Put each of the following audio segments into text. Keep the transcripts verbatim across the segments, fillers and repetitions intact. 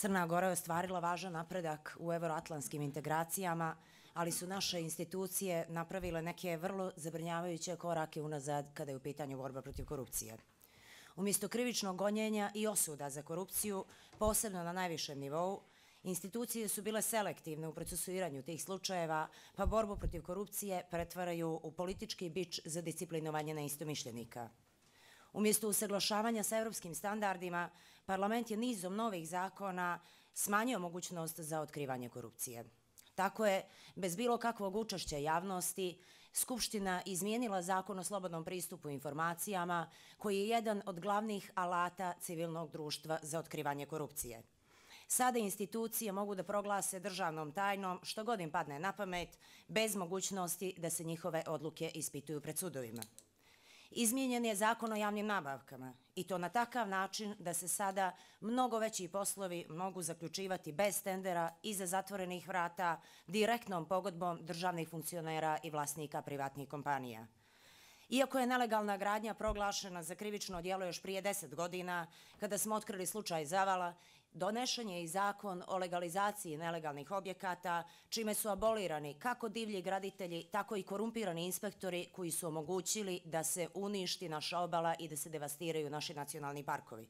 Crna Gora je ostvarila važan napredak u evroatlantskim integracijama, ali su naše institucije napravile neke vrlo zabrinjavajuće korake unazad kada je u pitanju borba protiv korupcije. Umjesto krivičnog gonjenja i osuda za korupciju, posebno na najvišem nivou, institucije su bile selektivne u procesuiranju tih slučajeva, pa borbu protiv korupcije pretvaraju u politički bič za disciplinovanje neistomišljenika. Umjesto usaglašavanja sa evropskim standardima, parlament je nizom novih zakona smanjio mogućnost za otkrivanje korupcije. Tako je, bez bilo kakvog učešća javnosti, Skupština izmijenila zakon o slobodnom pristupu informacijama, koji je jedan od glavnih alata civilnog društva za otkrivanje korupcije. Sada institucije mogu da proglase državnom tajnom što god im padne na pamet, bez mogućnosti da se njihove odluke ispituju pred sudovima. Izmijenjen je zakon o javnim nabavkama i to na takav način da se sada mnogo veći poslovi mogu zaključivati bez tendera, iza zatvorenih vrata, direktnom pogodbom državnih funkcionera i vlasnika privatnih kompanija. Iako je nelegalna gradnja proglašena za krivično djelo još prije deset godina, kada smo otkrili slučaj Zavala, donešen je i zakon o legalizaciji nelegalnih objekata, čime su abolirani kako divlji graditelji, tako i korumpirani inspektori koji su omogućili da se uništi naša obala i da se devastiraju naši nacionalni parkovi.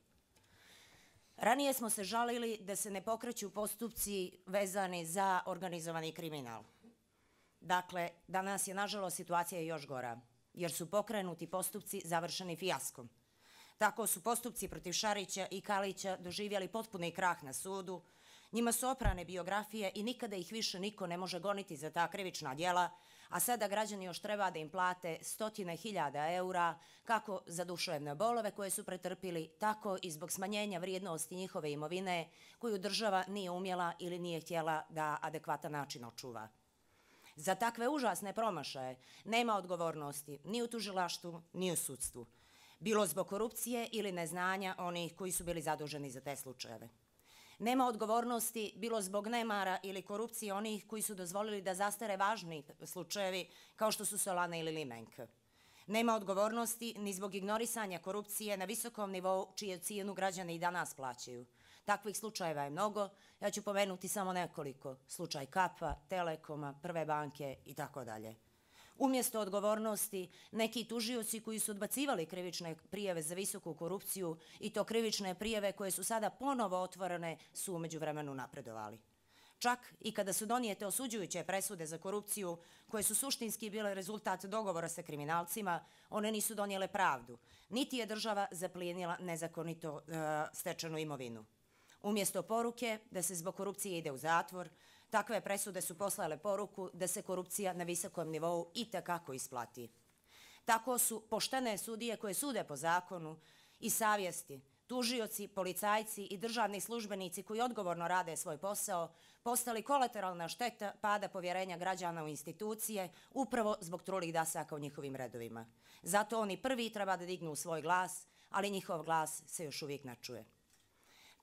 Ranije smo se žalili da se ne pokreću postupci vezani za organizovani kriminal. Dakle, danas je nažalost situacija još gora, jer su pokrenuti postupci završeni fijaskom. Tako su postupci protiv Šarića i Kalića doživjeli potpuni krah na sudu, njima su oprane biografije i nikada ih više niko ne može goniti za ta krivična djela, a sada građani još treba da im plate stotine hiljada eura kako za duševne bolove koje su pretrpili, tako i zbog smanjenja vrijednosti njihove imovine koju država nije umjela ili nije htjela da adekvatan način očuva. Za takve užasne promašaje nema odgovornosti ni u tužilaštvu, ni u sudstvu, bilo zbog korupcije ili neznanja onih koji su bili zaduženi za te slučajeve. Nema odgovornosti bilo zbog nemara ili korupcije onih koji su dozvolili da zastare važni slučajevi kao što su Solana ili Limenk. Nema odgovornosti ni zbog ignorisanja korupcije na visokom nivou čiju cijenu građani i danas plaćaju. Takvih slučajeva je mnogo, ja ću pomenuti samo nekoliko, slučaj Kapa, Telekoma, Prve banke i tako dalje. Umjesto odgovornosti, neki tužioci koji su odbacivali krivične prijave za visoku korupciju i to krivične prijave koje su sada ponovo otvorene su u međuvremenu napredovali. Čak i kada su donijete osuđujuće presude za korupciju, koje su suštinski bile rezultat dogovora sa kriminalcima, one nisu donijele pravdu, niti je država zaplijenila nezakonito e, stečenu imovinu. Umjesto poruke da se zbog korupcije ide u zatvor, takve presude su poslale poruku da se korupcija na visokom nivou itekako isplati. Tako su poštene sudije koje sude po zakonu i savjesti, tužioci, policajci i državni službenici koji odgovorno rade svoj posao postali kolateralna šteta pada povjerenja građana u institucije upravo zbog trulih dasaka u njihovim redovima. Zato oni prvi treba da dignu svoj glas, ali njihov glas se još uvijek ne čuje.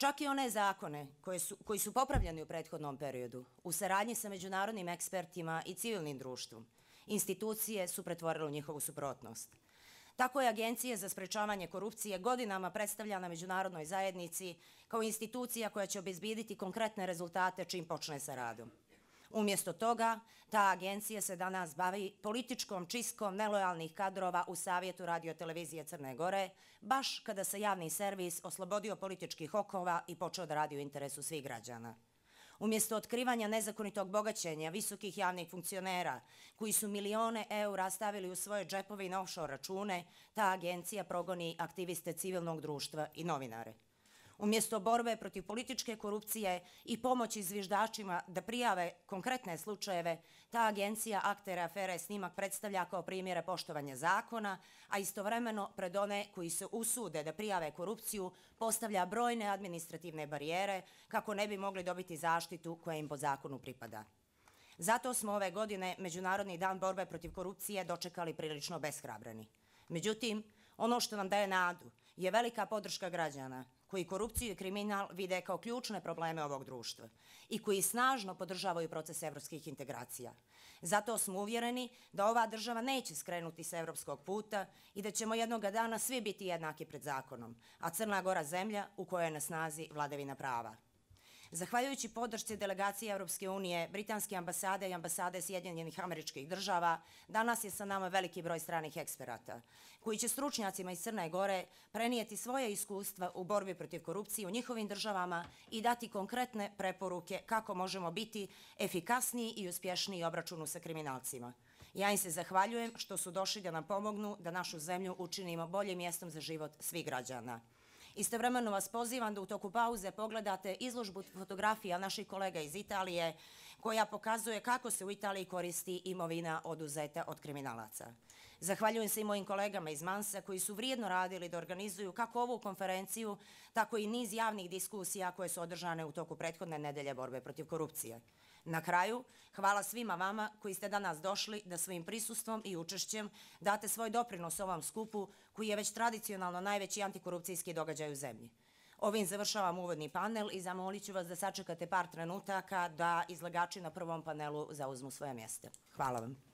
Čak i one zakone koje su, koji su popravljeni u prethodnom periodu, u saradnji sa međunarodnim ekspertima i civilnim društvom, institucije su pretvorile u njihovu suprotnost. Tako je Agencija za sprečavanje korupcije godinama predstavljana međunarodnoj zajednici kao institucija koja će obezbijediti konkretne rezultate čim počne sa radom. Umjesto toga, ta agencija se danas bavi političkom čistkom nelojalnih kadrova u Savjetu radiotelevizije Crne Gore, baš kada se javni servis oslobodio političkih okova i počeo da radi u interesu svih građana. Umjesto otkrivanja nezakonitog bogaćenja visokih javnih funkcionera koji su milione eura stavili u svoje džepove i na offshore račune, ta agencija progoni aktiviste civilnog društva i novinare. Umjesto borbe protiv političke korupcije i pomoći zviždačima da prijave konkretne slučajeve, ta agencija aktere afere Snimak predstavlja kao primjere poštovanja zakona, a istovremeno pred one koji se usude da prijave korupciju postavlja brojne administrativne barijere kako ne bi mogli dobiti zaštitu koja im po zakonu pripada. Zato smo ove godine Međunarodni dan borbe protiv korupcije dočekali prilično beshrabreni. Međutim, ono što nam daje nadu je velika podrška građana koji korupciju i kriminal vide kao ključne probleme ovog društva i koji snažno podržavaju proces evropskih integracija. Zato smo uvjereni da ova država neće skrenuti sa evropskog puta i da ćemo jednoga dana svi biti jednaki pred zakonom, a Crna Gora zemlja u kojoj je na snazi vladavina prava. Zahvaljujući podršci delegacije Europske unije, Britanske ambasade i ambasade Sjedinjenih Američkih Država, danas je sa nama veliki broj stranih eksperata, koji će stručnjacima iz Crne Gore prenijeti svoje iskustva u borbi protiv korupcije u njihovim državama i dati konkretne preporuke kako možemo biti efikasniji i uspješniji u obračunu sa kriminalcima. Ja im se zahvaljujem što su došli da nam pomognu da našu zemlju učinimo boljim mjestom za život svih građana. Istovremeno vas pozivam da u toku pauze pogledate izložbu fotografija naših kolega iz Italije koja pokazuje kako se u Italiji koristi imovina oduzeta od kriminalaca. Zahvaljujem se i mojim kolegama iz Mansa koji su vrijedno radili da organizuju kako ovu konferenciju, tako i niz javnih diskusija koje su održane u toku prethodne nedelje borbe protiv korupcije. Na kraju, hvala svima vama koji ste danas došli da svojim prisustvom i učešćem date svoj doprinos ovom skupu koji je već tradicionalno najveći antikorupcijski događaj u zemlji. Ovim završavam uvodni panel i zamolit ću vas da sačekate par trenutaka da izlagači na prvom panelu zauzmu svoje mjesta. Hvala vam.